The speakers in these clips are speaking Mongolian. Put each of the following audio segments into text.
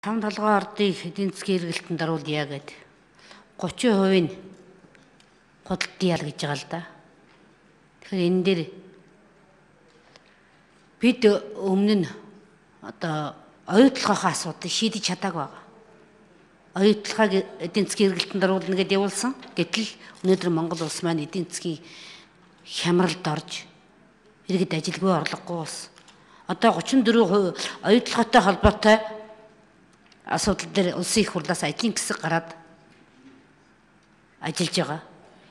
5 толгой ордыг эдийн засгийн эргэлтэнд оруулъя гэд 30% нь худалдан ял гэж байгаа л да. Тэгэхээр энэ дээр бид өмнө нь одоо оюутлогын асуудыг шийдэж чадаагүй байгаа. Оюутлогыг эдийн засгийн эргэлтэнд оруулна гэдээ явуулсан. Гэтэл өнөөдөр Монгол улс маань эдийн засгийн хямралд орж иргэд ажилгүй орлогогүй ус. Одоо 34% оюутлоготой холбоотой асуудал дээр улсын их хурлаас ажлын хэсэг гараад ажиллаж байгаа.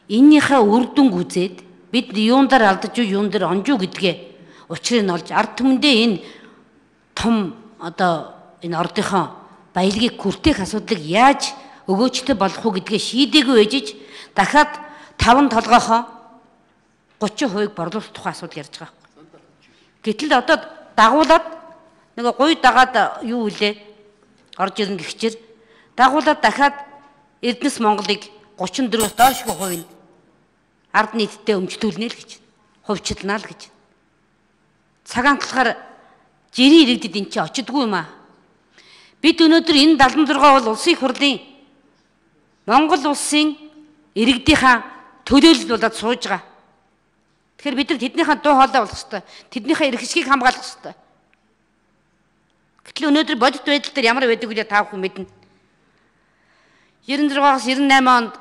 Эннийхээ үр дүнг үзээд бид юундаар алдаж юун дээр онж юу гэдгээ учрыг нь олж ард түмэндээ энэ том одоо энэ ордынхоо баялагийг хүртээх асуудлыг яаж өгөөжтэй болох уу гэдгээ шийдээгүй ээжиж дахиад 5 толгойхоо 30% борлуулах тухай асуудал ярьж байгаа. Гэтэл одоо дагуулад нэг гуй дагаад юу үлээ орж ирнэ гихчээр дагуулад дахиад Эрдэнэс Монголыг 34-өөс доошгүй хувь нь ард нийтдээ өмчлүүлнэ л гэж. Хувьчлнаа л гэж. Цагаан талахаар жирийн иргэдэд эн чинь очидгүй юм аа. Бид өнөөдөр энэ 76 бол улсын их хурлын Монгол улсын иргэдийнхаа төлөөлөл болоод сууж байгаа. Тэгэхээр бид нар тэднийхээ дуу хоолой болох ёстой. Тэднийхээ эрх ашгийг хамгаалах ёстой. Гэтэл өнөөдөр бодит байдал дээр ямар байдаг вэ та бүхэн мэднэ. 96-аас 98 онд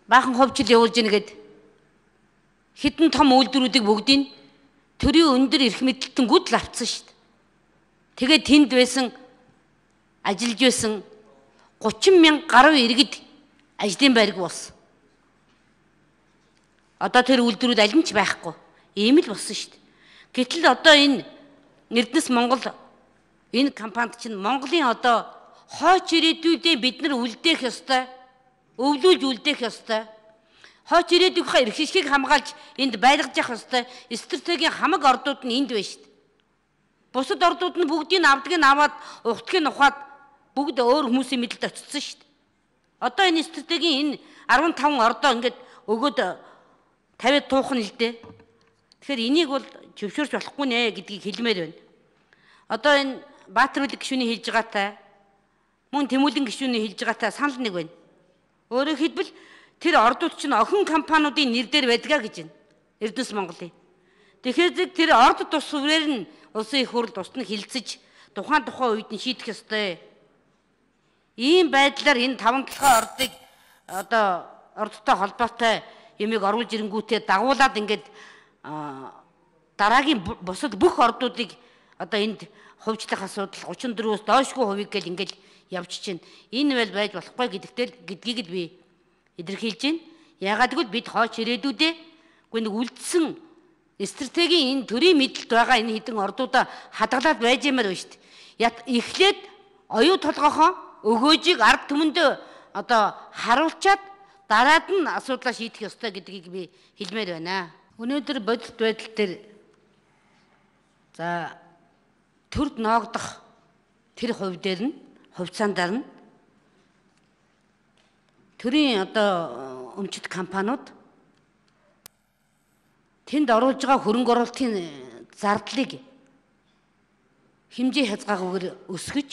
баахан ховчл явуулж ийн гэд хитэн том үйлдвэрүүдийг бүгдийг төрийн өндөр эрх мэдэлтэнгүүд л авцсан шүү дээ. Тэгээд тэнд байсан ажиллаж байсан 30,000 гаруй иргэд ажлын байрг болсон. Одоо тэр үйлдвэрүүд аль нь ч байхгүй. Ийм л болсон шүү дээ. Гэтэл одоо энэ Эрдэнэс Монгол энэ компанид чинь Монголын одоо хойч ирээдүйдээ бид нар үлдээх ёстой. Өвлүүлж үлдээх ёстой. Хойч ирээдүйнхээ эрх ашгийг хамгаалж энд байлгаж явах ёстой. Стратегийн хамаг ордууд нь энд байна шүү дээ. Бусад ордууд нь бүгдийг авдаг нь аваад ухтгийг ухаад бүгд өөр хүмүүсийн мэдлэлд очсон шүү дээ. Одоо энэ стратегийн энэ 15 ордоо ингээд өгөөд 50 туух нь л дээ. Тэгэхээр энийг бол зөвшөөрч болохгүй нэ гэдгийг хэлмээр байна. Одоо энэ Баатар үлэг гишүүний хэлж байгаатай мөн Тэмүүлэн гишүүний хэлж байгаатай санал нэг байна. Өөрөөр хэлбэл тэр ордууд чинь охин компаниудын нэр дээр байдгаа гэж байна. Эрдэнэс Монголын. Тэгэхээр тэр орд тус сүрээр нь улсын их хурл тусад нь хилцэж тухайн үед нь шийдэх ёстой. Ийм байдлаар энэ 5 толгой ордыг одоо ордтой холбоотой юмыг оруулж ирэнгүүтээ дагуулад ингээд дараагийн бусад бүх ордуудыг одоо энд хувьчлах асуудал 34-өөс доошгүй хувийг гэл ингээд явж чинь энэ байл байж болохгүй гэдгийг л би илэрхийлж байна. Ягаад гэвэл бид хойч ирээдүйдээ нэг үлдсэн стратегийн энэ төрийн мэдлэлд байгаа энэ хідэн ордуудаа хадгалаад байж юмар байна шүү дээ. Эхлээд оюу толгойхоо өгөөжийг ард түмэндээ одоо харуулчаад дараад нь асуудлаа шийдэх ёстой гэдгийг би хэлмээр байна. Өнөөдөр бодит байдал дээр за төрд ноогдох тэр хувь дээр нь хувьцаандаар нь төрийн одоо өмчит компаниуд тэнд оруулж байгаа хөрөнгө оруулалтын зардлыг хэмжээ хязгааргүйгээр өсгөж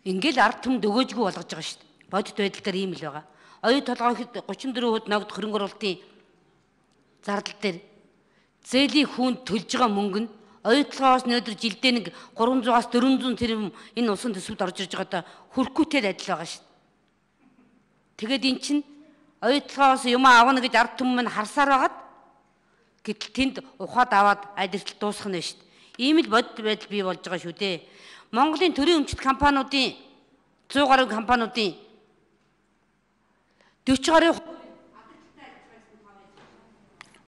ингээл ард түмэнд өгөөжгүй болгож байгаа шүү дээ. Бодит байдал дээр ийм л байгаа. Оюу толгойд 34% ногд хөрөнгө оруулалтын зардал дээр зээлийн хүнд төлж байгаа мөнгө нь оюутлогоос өнөөдөр жилдээ нэг 300-аас 400 тэрбум энэ улсын төсөвд орж ирж байгаадаа хүрхгүйтэй адил байгаа шүү дээ. Тэгээд эн чинь оюутлогоос юм аавна гэж ард түмэн нь харсаар байгаад гэтэл тэнд ухаад аваад адилтал дуусгах нь шүү дээ. Ийм л бодит байдал бий болж байгаа шүү дээ. Монголын төрийн өмчит компаниудын 100 гаруй компаниудын 40 гаруй